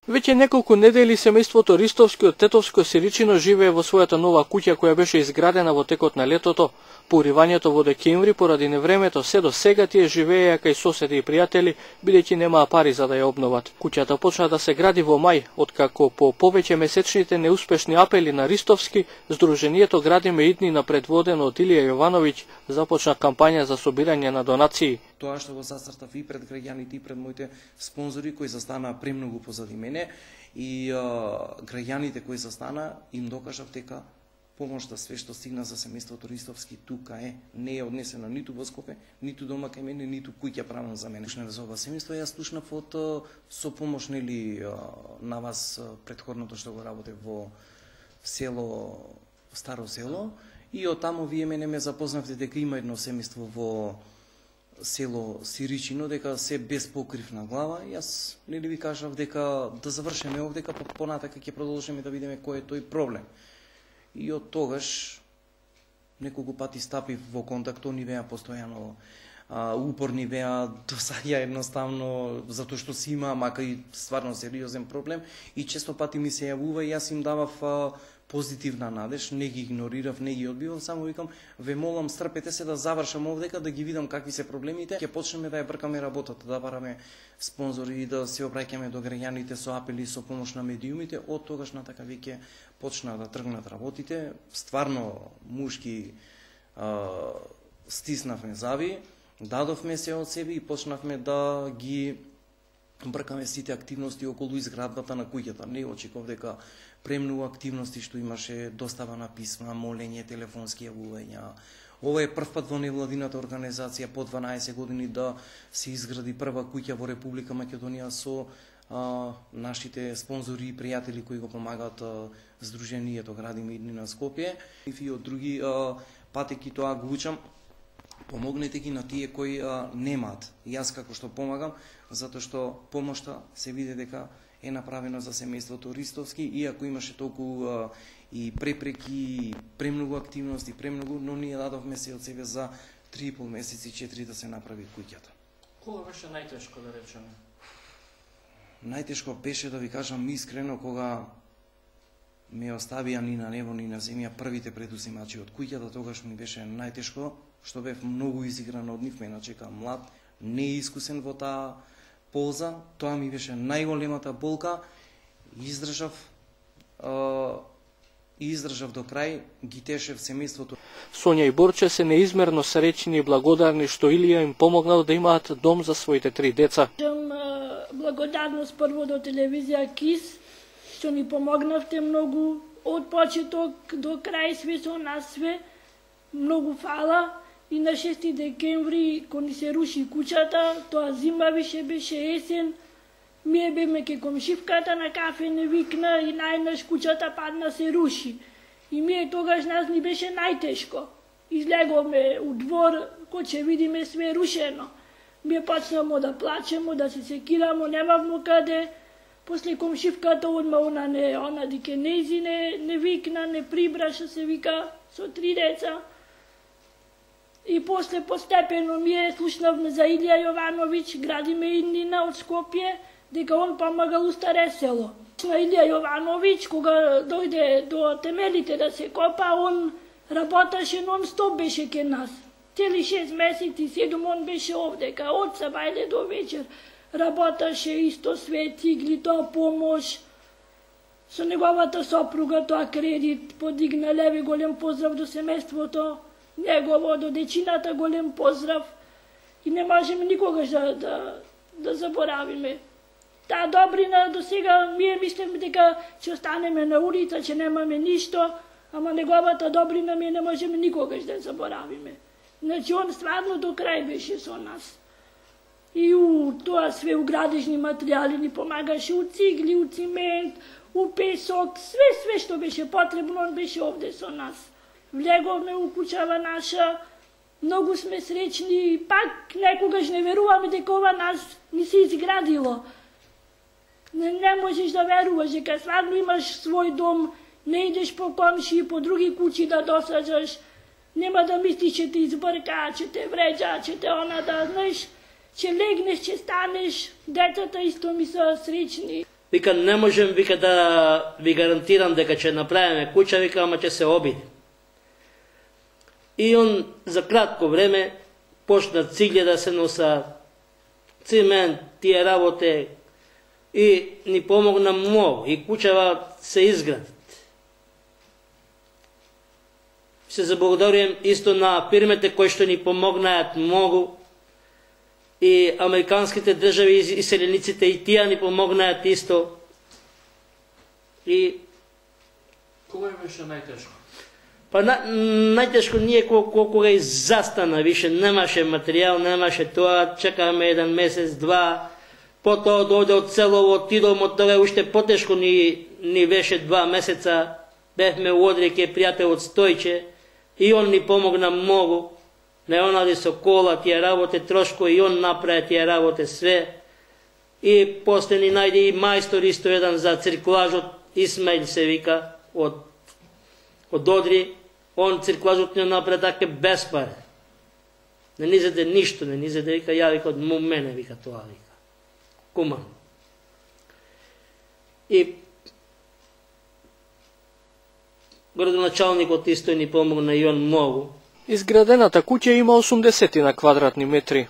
Веќе неколку недели семејството Ристовски од Тетовско Сиричино живее во својата нова куќа која беше изградена во текот на летото. По уривањето во декември поради невремето се до сега тие живееја кај соседи и пријатели, бидејќи немаа пари за да ја обноват. Куќата почна да се гради во мај, откако по повеќе месечните неуспешни апели на Ристовски, Сдруженијето Градиме иднина предводено од Илија Јовановиќ започна кампања за собирање на донации. Тоа што го застартав и пред граѓаните и пред моите спонзори кои застанаа премногу позади мене и граѓаните кои застана им докажав дека помошта све што стигна за семејството Ристовски тука е, не е однесена ниту во Скопје, ниту дома кај мене, ниту куќа правам за мене. За ова семејство јас слушнав од со помош нели на вас претходното што го работев во село Старо село и од таму вие мене ме запознавте дека има едно семејство во село Сиричино, дека се без покрив на глава. Јас нели ви кажав дека да завршиме овде, дека понатака ќе продолжиме да видиме кој е тој проблем. И од тогаш неколку пати стапив во контакт, они беа постојано упорни беа, досаѓа едноставно затоа што си има мака и стварно сериозен проблем и често пати ми се јавува и јас им давав позитивна надеж, не ги игнорирав, не ги одбивав, само викам, ве молам стрпете се да завршам овдека, да ги видам какви се проблемите, ќе почнеме да ја бркаме работата, да бараме спонзори и да се обраќаме до граѓаните со апели, со помош на медиумите. Од тогаш натака веќе почна да тргнат работите, стварно мушки стиснавме зави, дадовме се од себе и почнавме да ги бркаме сите активности околу изградбата на куќата. Не очекував дека премногу активности што имаше, достава на писма, молење, телефонски јавувања. Ова е прв пат во невладината организација по 12 години да се изгради прва куќа во Република Македонија со нашите спонзори и пријатели кои го помагаат Сдруженијето Градиме иднина Скопје. И од други патеки тоа го учам. Помогнете ги на тие кои немаат. Јас како што помагам, затоа што помошта се види дека е направено за семејството Ристовски, иако имаше толку и препреки, премногу активности, премногу, но ние дадовме се од себе за 3,5 месеци, 4 да се направи куќата. Кога беше најтешко, да речеме? Најтешко беше, да ви кажам искрено, кога ме оставија ни на небо, ни на земја првите предузимачи од куќата, тогаш ми беше најтешко, што бев многу изигран од нив, ме начека млад, неискусен во таа полза, тоа ми беше најголемата болка, издржав до крај, ги тешев семејството. Сонја и Борче се неизмерно среќни и благодарни што Илија им помогнал да имаат дом за своите 3 деца. Благодарност прво до телевизија КИС, што ни помогнавте многу од почеток до крај, све со нас све. Многу фала. И на 6 декември, кога ни се руши куќата, тоа зима више беше есен, ние беме ке комшивката на кафе не викна и најнаш куќата падна се руши. И ние тогаш нас ни беше најтешко. Излеговме у двор, кој ќе видиме све рушено. Ние почнамо да плачемо, да се секирамо, немавмо каде. После комшивката одма она дике нези не викна, не прибраша се вика со 3 деца. И после постепено ние слушнавме за Илија Јовановиќ, Градиме иднина од Скопје, дека он помагал у Старе село. На Илија Јовановиќ, кога дојде до темелите да се копа, он работеше нон-стоп беше ке нас. Цели 6 месеци, 7 он беше овдека, од сабајле до вечер. Работеше исто све, цигли, тоа помош. Со неговата сопруга тоа кредит подигна леви, голем поздрав до семејството. Негово, до дечината голем поздрав и не можеме никогаш да заборавиме. Таа добрина до сега ние мислиме дека ќе останеме на улица, ќе немаме ништо, ама неговата добрина ние не можеме никогаш да заборавиме. Значи он стварно до крај беше со нас. И у тоа све у градежни материјали ни помагаше, у цигли, у цимент, у песок, све што беше потребно, он беше овде со нас. Влеговме у куќава наша, многу сме среќни, пак некогаш не веруваме дека ова нас ни се изградило. Не можеш да веруваш дека стварно имаш свој дом, не идеш по комши, по други куќи да досаđаш, нема да мислиш че те избрка, че те вреđа, че те она да знаеш, че легнеш, че станеш, децата исто ми се среќни. Вика, не можем, вика, да ви гарантирам дека ќе направиме куќа, вика, ама ќе се обиде. И он за кратко време почна цигле да се носа, цимент, тие работе, и ни помогна многу, и куќава се изгради. Се заблагодарувам исто на фирмите кои што ни помогнаат многу, и американските држави и селениците, и тие ни помогнаат исто. И кога беше најтешко? Па најтешко ние кога и застана, више немаше материјал, немаше тоа, чекаме 1 месец, 2, потоа дојде од селово, отидом од тоа, уште потешко ни беше 2 месеца, бевме у Одрин ке пријател од Стојче, и он ни помогна многу, не онади со кола, тие работе трошко, и он направи тие работе све, и после ни најде и мајстор исто еден за циркулажот, Исмаил се вика, од Одри, он циркулажот не направи така без пари. Не ни заде ништо, не ни заде, вика, ја вика, од мене, вика, тоа, вика. Куман. И градоначалникот исто ни помогна и он многу. Изградената куќа има 80 на квадратни метри.